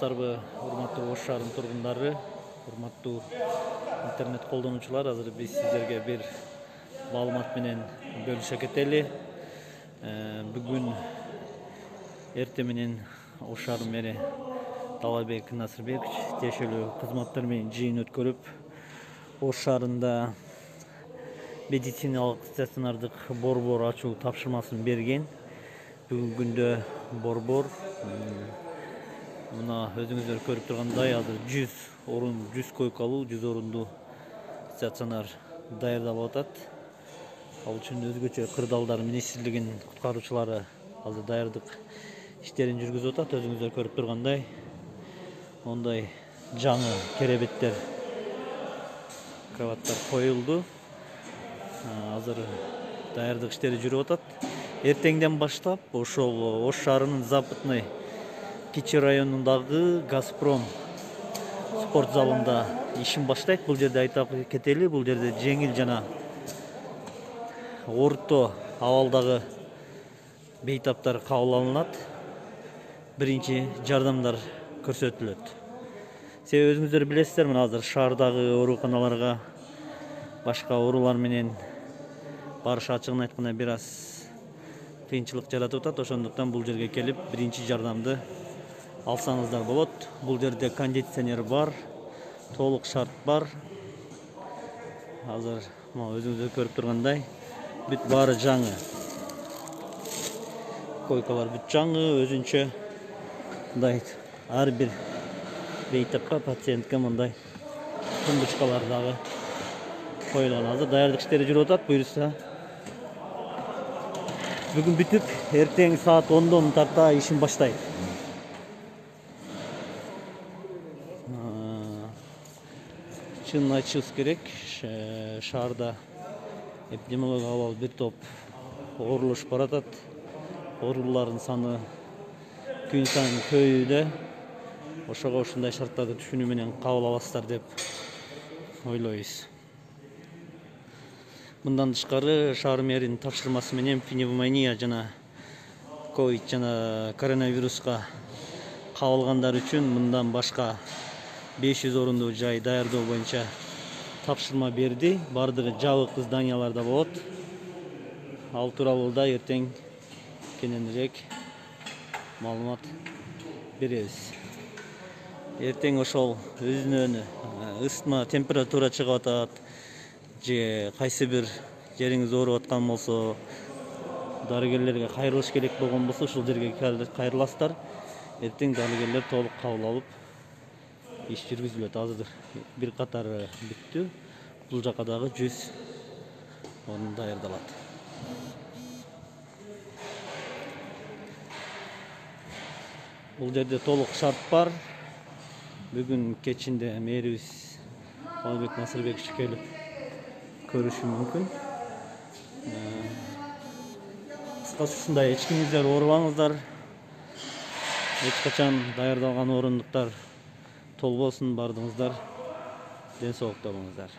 Саламатсыздарбы, урматтуу Ош шаарынын тургундары, урматтуу интернет колдонуучулар. Азыр биз сиздерге бир маалымат менен бөлүшө кетели. Бүгүн эртең менен Ош шаарынын мэри Талайбек Насырбекович тиешелүү кызматтар менен жыйын өткөрүп, Ош шаарында медициналык стационардык борбор ачуу тапшырмасын берген. Бүгүнкү күндө борбор мына өзүңүздөр көрүп тургандай азыр 100 койкалуу 100 орундуу стационар даярдалып атат. Ал үчүн өзгөчө кырдаалдар министрлигинин куткаруучулары азыр даярдык иштерин жүргүзүп атат. Өзүңүздөр көрүп тургандай мондай жаңы керебеттер, кроваттар коюлду. Азыр даярдык иштери жүрүп атат. Эртеңден баштап ошол Ош шаарынын Западный Кичи районундагы Газпром спорт залында ишин баштайт. Бул жерде айта кетели, бул жерде жеңил жана орто абалдагы бейтаптар кабыл алынат. Биринчи жардамдар көрсөтүлөт. Себеби өзүңүздөр билесиздер, мына азыр шаардагы ооруканаларга башка оорулар менен барыш ачыгын айтканда бир аз кыйынчылык жаратып атат. Ошондуктан бул жерге келип биринчи жардамды алсаңыздар болот. Бул жерде кондиционер бар, толук шарт бар. Азыр өзүңүздөр көрүп тургандай бүт баары жаңы. Койкалар бүт жаңы, өзүнчө мындай ар бир бейтапка, пациентке мындай тумбучкалар дагы коюлган. Азыр даярдык иштери жүрүп атат. Буюрса бүгүн бүтүп, эртең саат 10дон тарта ишин баштайт. Чынын айтышыбыз керек, шаарда эпидемиологиялык абал бир топ оорулушуп баратат. Оорулуулардын саны күн сайын көбөйүүдө. Ошого ушундай шарттарды түшүнүү менен кабыл аласыздар деп ойлойбуз. Мындан тышкары шаар мэринин тапшырмасы менен пневмония жана ковид жана коронавируска кабылгандар үчүн мындан башка 500 орундуу жай даярдоо боюнча тапшырма берди. Бардыгы жабык зданияларда болот. Ал тууралуу да эртең кененирээк маалымат беребиз. Эртең ошол өзүнөн ысытма, температура чыгып атат же кайсы бир жериңиз ооруп аткан болсо, дарыгерлерге кайрылыш керек болгон болсо, ушул жерге кайрыласыздар. Эртең дарыгерлер толук кабыл алып иш жүргүзүлөт. Азыр бир катары бүттү. Бул жака дагы 100 орун даярдалат. Бул жерде толук шарт бар. Бүгүн кечинде мэрибиз Талайбек Насырбекович келип көрүшү мүмкүн. Кыскасы ушундай, эч кимиңиздер оорубаңыздар. Эч качан даярдалган орундуктар толбосун, бардыгыңыздар ден соолукта болуңуздар.